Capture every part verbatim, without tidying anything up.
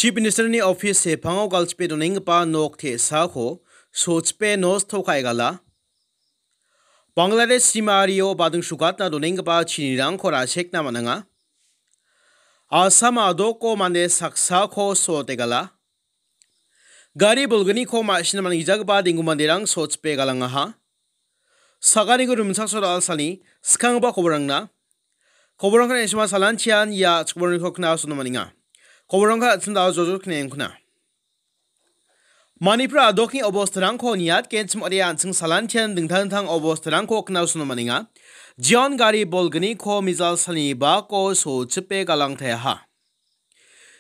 Chief Minister-ni office sepango galchipe donenggipa nok te·sako sochipe nosto ka·e gala. Bangladesh simario bading sukatna donenggipa chinirangko ra·sekna man·enga. Assam a·doko mande saksako so·ote gala. Gari bolgniko ma·sina man·gijagipa denggu manderang sochipe galangaha. Saganiko rimchaksoa da·alsani skanggipa koborangna. Koborangko na·sima salantian ia chikborangko kna·sona man·enga. Koborangko an·ching da·o jojol kna·engkuna. Manipur a·dokni obostarangko niatgenchim ong·ode an·ching salantian dingtang dingtang obostarangko kna·sona man·enga. Jeon gari bolgniko mijal salni bako sochipe galangtaeaha.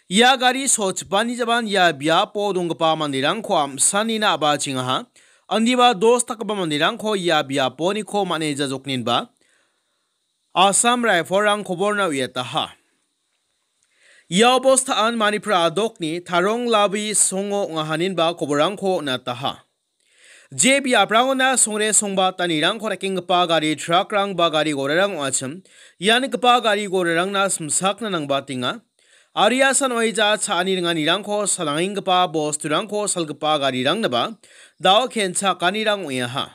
Ia gari sochipani jaman ia biapo donggipa manderangko am·sanina a·bachengaha. Indiba dos dakgipa manderangko ia biaponiko man·e jajokninba Assam Rifle-rang koborna uiataha. Ia obostaan Manipur a·dokni Tarong Labi songo ong·ahaninba koborangko on·ataha. Je biaprangona songre songbatanirangko rakenggipa gari truck-rang ba gari gorarang ong·achim. Ia nikgipa gari gorarangna simsakna nangbatenga. Aro ia san oeja cha·ani ringanirangko salangenggipa bosturangko salgipa garirangnaba dao kenchakanirang ong·eaha.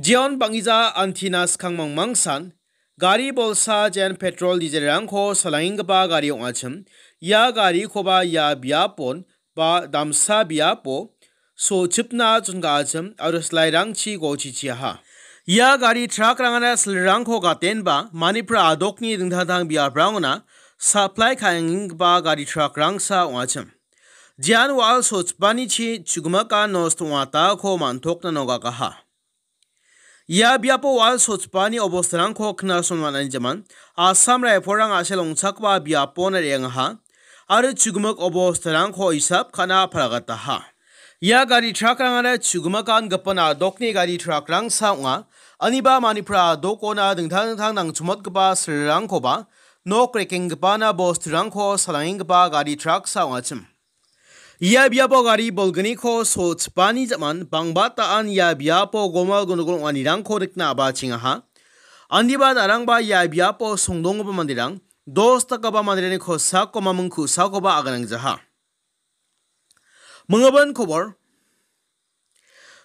Jeon bang·gija antina skang mangmangsan gari bolsa jen petrol dieselrangko salangenggipa gari ong·achim. Ia garikoba ia biapon ba damsa biapo sochipna chon·gachim aro silairangchi gochichiaha. Ia gari truck-rangara silrangko gatenba Manipur a·dokni dingtang dingtang biaprangona supply ka·enggipa gari truck-rangsa ong·achim. Jean wal sochipanichi chugimaka nosto ong·atako man·tokna nogakaha. Ia biapo wal sochipani obostarangko knason man·ani jaman Assam Rifle-rang a·sel ong·chakba biapona re·angaha aro chugimik obostarangko isap ka·na palagataha. Ia gari truck-rangara chugimakan gipin a·dokni gari truck-rangsa ong·a. Aniba Manipur a·dokona dingtang dingtang nangchimotgipa silrangkoba nok rekenggipana bosturangko salangenggipa gari truck-sa ong·achim. Ia biapo gari bolgniko sochipani jaman bangbataan ia biapo gomal gonogol ong·anirangko nikna a·bachengaha. Andiba darangba ia biapo songdonggipa manderang dos dakgipa manderangni kosako maming ku·sakoba aganangjaha. Mingibin kobor.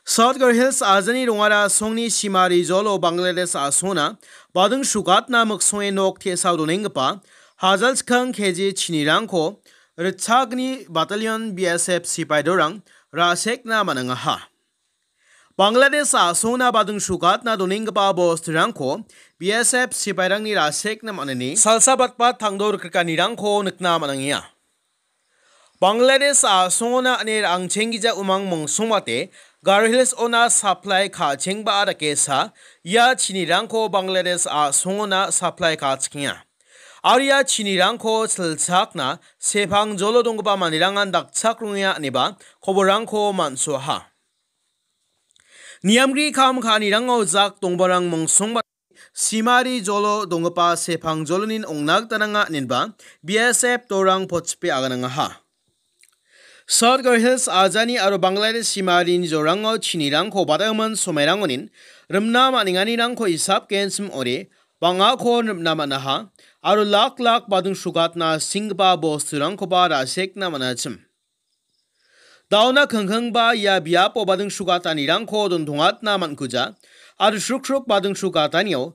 South Garo Hills ajani rongara songni simari jolo Bangladesh a·songna bading sukatna miksonge nok te·sao donenggipa hajal chikang K G chinirangko ritchagni battalion B S F sipai dorang ra·sekna man·angaha. Bangladesh a·songna bading sukatna donenggipa bosturangko B S F sipairangni ra·sekna man·ani salsa batbat tangdo rikrikanirangko nikna man·angenga. Bangladesh a·songona ine ra·angchenggija umang mongsongmate Garo Hills ona supply ka·chengba dakesa ia chinirangko Bangladesh a·songona supply ka·chikenga. Aro ia chinirangko silchakna sepang jolo donggipa manderangan dakchakrongenga ineba koborangko man·soaha. Niamgri kam ka·anirango jak dongbarang mongsongba simari jolo donggipa sepang jolonin ong·na gita nanga inenba B S F dorang potchipe aganangaha. South Garo Hills ajani aro Bangladesh simarini jorango chinirangko badagimin somairangonin rimna man·enganirangko isap genchim ore bang·ako rimna man·aha aro lak lak bading sukatna singgipa bosturangkoba ra·sekna man·achim. Dauna kingkingba ia biapo bading sukatanirangko dontongatna man·kuja, aro srukruk bading sukatanio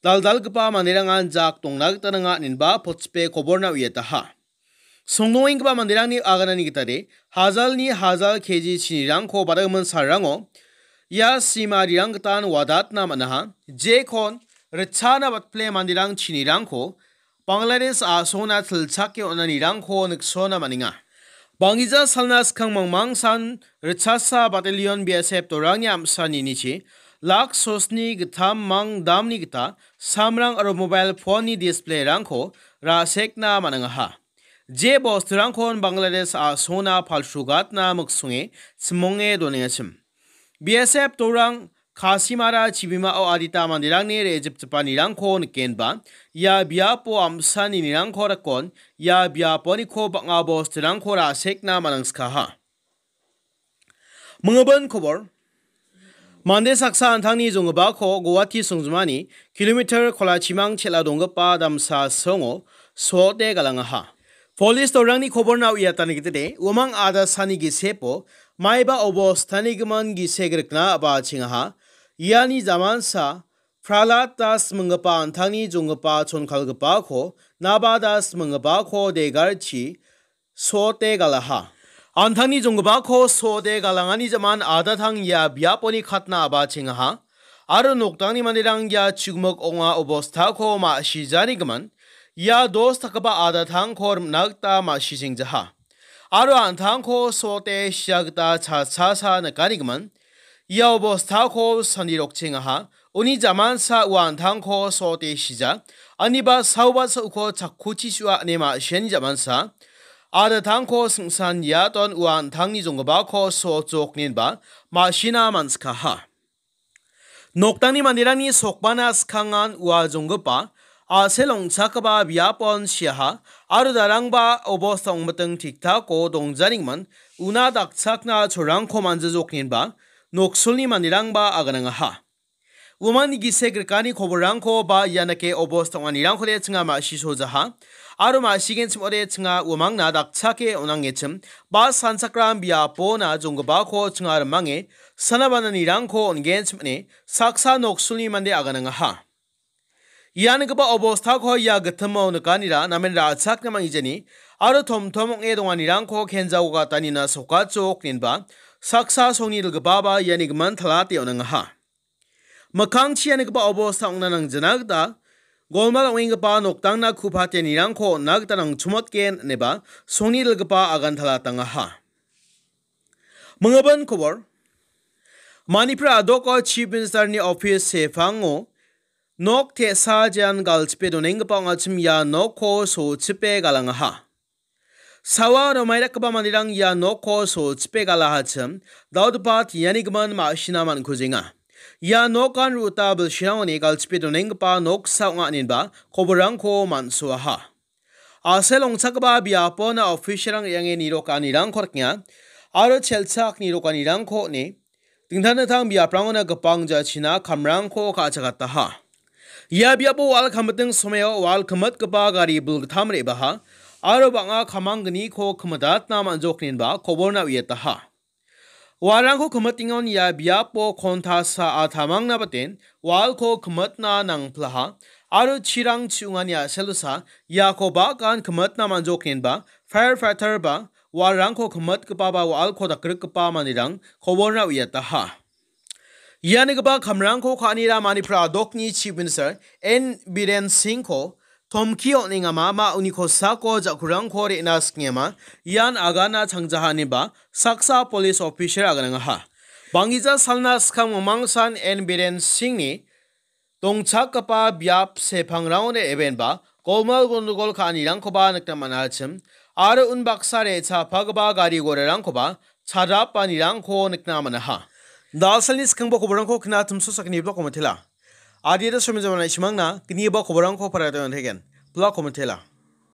daldalgipa manderangan jak dongna gita nanga inenba potchipe koborna uiataha. Songdongenggipa manderangni aganani gitade hajalni hajal K G chinirangko badagimin salrango ia simarirang gitan wadatna man·aha, jekon ritchana batpile manderang chinirangko Bangladesh a·songna tilchake on·anirangko niksona man·enga. Bang·gija salna skang mangmangsan ritchasa battalion B S F dorangni amsaninichi lak sosni gittam mang damni gita samrang aro mobile phone-ni display-rangko ra·sekna man·angaha. Je bosturangkon Bangladesh a·songna palsugatna miksonge chimonge donengachim. B S F dorang Kasimara chibimao adita manderangni re·jipjipanirangko nikenba, ia biapo amsaninirangko rikon, ia biaponiko bang·a bosturangko ra·sekna manangskaha. Mingibin kobor. Mande saksa an·tangni jonggipako Guwahati songjinmani kilometer kolachimang chel·a donggipa damsa songo so·ote galangaha. Polis torangni koborna uiatani gitide, uamang adasani gisepo, maiba obostanigimin gisek rikna a·bachengaha. Iani jamansa, Prahlad Das minggipa an·tangni jonggipa chonkalgipako, Naba Das minggipako degarchi, sote galaha. An·tangni jonggipako sote galangani jaman adatang ia biaponi katna a·bachengaha. Aro noktangni manderang ia chigmik ong·a obostako ma·sijanigimin, ia dos dakgipa adatangko rim·na gita ma·sisengjaha. Aro an·tangko sote sia gita cha-, cha-, cha-, nikanigimin, ia obostako sandirokchengaha. Uni jamansa ua an·tangko sote sija. Aniba saoba sa·uko chakkuchi su·a ine ma·siani jamansa. Adatangko singsan iaton ua an·tangni jonggipako sojok ninba ma·sina man·sikaha. Noktangni manderangni sokbana skangan ua jonggipa a·sel ong·chakgipa biapon siaha aro darangba obosta ong·miting tiktako dongjaningman una dakchakna cholrangko manjajok ninba noksolni manderangba aganangaha. Uamangni gisek rikani koborrangko ba ianake obosta ong·anirangkode chinga ma·sisojaha aro ma·sigenchim ode chinga uamangna dakchake on·angechim ba sanchakram biapona jonggipako chinga rimange sanabananirangko on·genchim ine saksa noksolni mande aganangaha. Ia nikgipa obostako ia gitimo nikanira namen ra·chakna manggijani aro tomtom ong·e donganirangko kenjao gatanina sokachok ninba saksa songni dilgipaba iani gimin talate on·angaha. Mikkangchi ia nikgipa obosta ong·na nangjana gita golmal ong·enggipa noktangna ku·patenirangko on·na gita nangchomotgen ineba songni dilgipa agan talatangaha. Mingibin kobor. Manipur a·doko Chief Minister-ni office sepango nok te·sa jean galchipe donenggipa ong·achim ia nokko sochipe galangaha. Sawa aro maidakgipa manderang ia nokko sochipe galahachim, dal·gipa tiani gimin ma·sina man·kujenga. Ia nokan ruta bilsirangoni galchipe donenggipa noksa ong·a inenba koborrangko man·soaha. A·sel ong·chakgipa biapona official-rang re·ange nirokanirangko rikenga aro chelchak nirokanirangko on·e dingtang dingtang biaprangona gipang jachina kamrangko ka·chakataha. Ia biapo wal kamiting somao wal kimitgipa gari bulgittam re·baha aro bang·a kamanggniko kimitatna man·jok inenba koborna uiataha. Walrangko kimitingon ia biapo kontasa a tamangna baten walko kimitna nangplaha aro chirang chi·ongani a·selosa iako bakan kimitna man·jok inenba firefighter ba walrangko kimitgipa ba walko dakgrikgipa manderang koborna uiataha. Ia nikgipa kamrangko ka·anira Manipur a·dokni Chief Minister N Biren Singh-ko tomki on·engama ma uni kosako ja·kurangko re·na sikengama ian agana changjaha ineba saksa police officer aganangaha. Banggija salna skang mingmangsan N Biren Singh-ni dongchakgipa biap sepangrangode ebenba golmal gondogol ka·anirangkoba nikna man·achim aro unbaksa re·chapaggipa gari gorarangkoba chadrapanirangko nikna man·aha. Dalsalni skangba koborangko kna timso sakni blok komitela. Adita somi jamana isimangna gniba koborangko parada on·teken. Blok komitela.